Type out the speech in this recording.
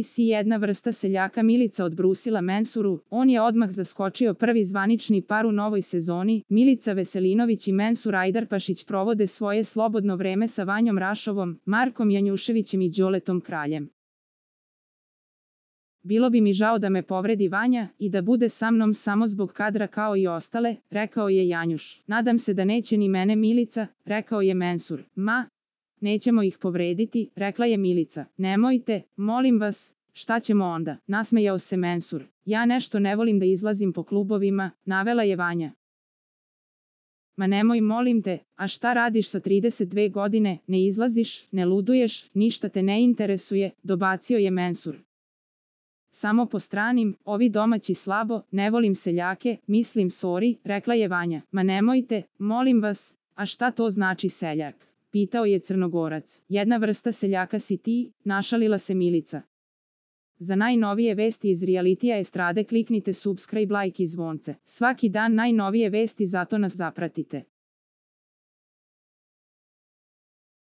si jedna vrsta seljaka Milica odbrusila Mensuru, on je odmah zaskočio prvi zvanični par u novoj sezoni. Milica Veselinović i Mensur Ajdarpašić provode svoje slobodno vreme sa Vanjom Rašovom, Markom Janjuševićem i Đoletom Kraljem. Bilo bi mi žao da me povredi Vanja i da bude sa mnom samo zbog kadra kao i ostale, rekao je Janjuš. Nadam se da neće ni mene Milica, rekao je Mensur. Ma, nećemo ih povrediti, rekla je Milica. Nemojte, molim vas, šta ćemo onda, nasmejao se Mensur. Ja nešto ne volim da izlazim po klubovima, navela je Vanja. Ma nemoj molim te, a šta radiš sa 32 godine, ne izlaziš, ne luduješ, ništa te ne interesuje, dobacio je Mensur. Samo po stranim, ovi domaći slabo, ne volim seljake, mislim sorry, rekla je Vanja. Ma nemojte, molim vas, a šta to znači seljak? Pitao je Crnogorac. Jedna vrsta seljaka si ti, našalila se Milica. Za najnovije vesti iz realitija estrade kliknite subscribe, like i zvonce. Svaki dan najnovije vesti, zato nas zapratite.